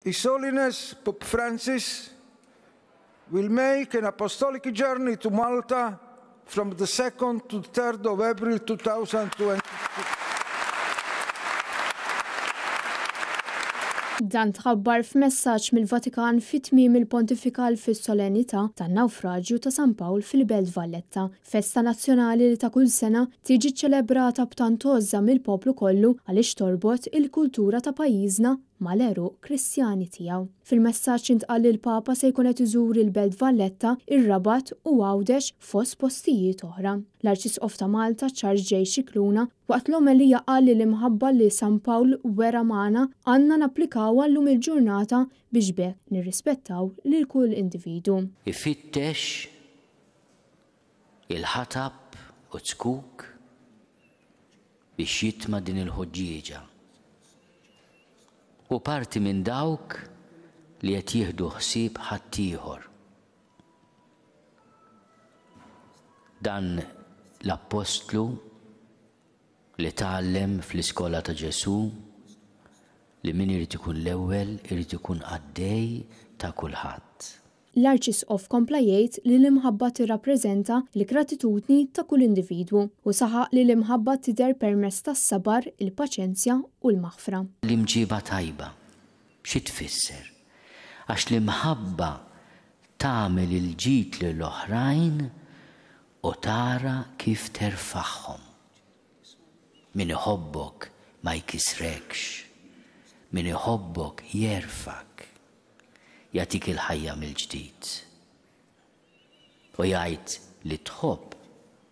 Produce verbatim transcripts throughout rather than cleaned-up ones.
His Holiness Pope Francis will make an apostolic journey to Malta from the second to the third of April two thousand twenty-two. Dan tħabbar f'messaġġ mill-Vatikan fi tmiem il-pontifikal fis-solennità tan-nawfraġju ta' San Pawl fil-Belt Valletta, festa nazzjonali li ta' kull sena tiġi ċelebrata b'tant għożża mill-poplu kollu għaliex torbot il-kultura ta' pajjiżna mal-għeruq Kristjani tiegħu. Fil-messaġġ intqal li l-Papa se jkun qed iżur il-Belt Valletta, ir-Rabat u Għawdex fost postijiet oħra. L-Arċisqof ta' Malta Charles J. Scicluna waqt l-omelija qal li l-imħabba li San Pawl wera magħna għandna napplikawha llum il-ġurnata biex b'hekk nirrispettaw lil kull individu. Ifittex il-ħatab u zkuk biex jitma' din il-ħuġġieġa. U parti minn dawk li qed jieħdu ħsieb ħaddieħor. Dan l-appostlu li tgħallem fl-iskola ta' Ġesù li min irid ikun l-ewwel irid ikun qaddej ta' kulħadd. L-Arċisqof kompla jgħid li l-imħabba tirrappreżenta l-gratitudni ta' kull individwu u saħaq li l-imħabba tidher permezz tas-sabar, il-paċenzja u l-maħfra. L-imġiba tajba xi tfisser? Għax l-imħabba tagħmel il-ġid lill-oħrajn u tara kif terfagħhom. Min iħobbok ma jkissrekx, min iħobbok jerfgħek, jagħtik il-ħajja mill-ġdid. U jgħid li tħobb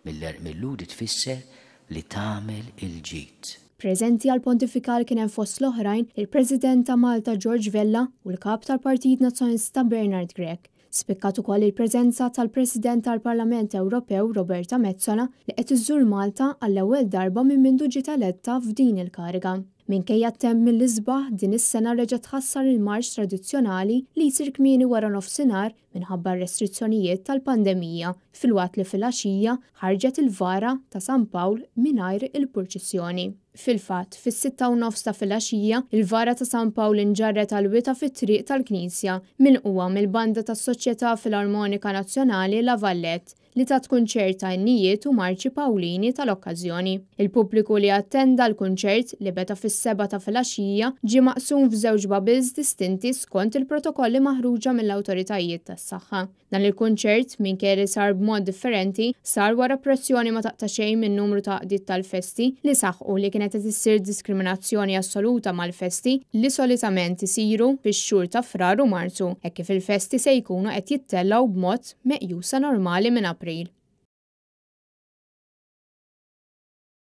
mill-Lhudi tfisser li tagħmel il-ġid. Preżenti għal pontifikal kien hemm fost l-oħrajn il-President ta' Malta George Vella u l-Kap tal-Partit Nazzjonalista Bernard Grech. Spikkat ukoll il-preżenza tal-President tal-Parlament Ewropew Roberta Metsola li qed iżżur Malta għall-ewwel darba minn mindu ġiet eletta f'din il-kariga. Minkejja t-temp mill-isbaħ, din is-sena reġa' tħassar il-marċ tradizzjonali li jsir kmieni wara nofsinhar minħabba restrizzjonijiet tal-pandemija, filwaqt li filgħaxija ħarġet il-vara ta' San Pawl mingħajr il-purċissjoni. Fil-fatt, fis-sitta u nofs ta' filgħaxija, il-vara ta' San Pawl inġarret għal wita fit-triq tal-Knisja milqugħa mill-banda tas-Soċjetà Filarmonika Nazzjonali La Vallette li tat kunċert ta' innijiet u marċi Pawlini tal-okkażjoni. Il-pubbliku li attenda l-kunċert li beda fis-sebgħa ta' filgħaxija ġie maqsum f'żewġ bubbles distinti skont il-protokolli maħruġa mill-awtoritajiet tas-saħħa. Dan il-kunċert, minkejja li sar b'mod differenti, sar wara pressjoni ma taqta' xejn minn numru ta' għaqdiet tal-festi li saħqu li kienet qed issir diskriminazzjoni assoluta mal-festi li solitament isiru fix-xhur ta' Frar u Marzu, hekk kif il-festi se jkunu qed jittellgħu b'mod meqjusa normali minn April.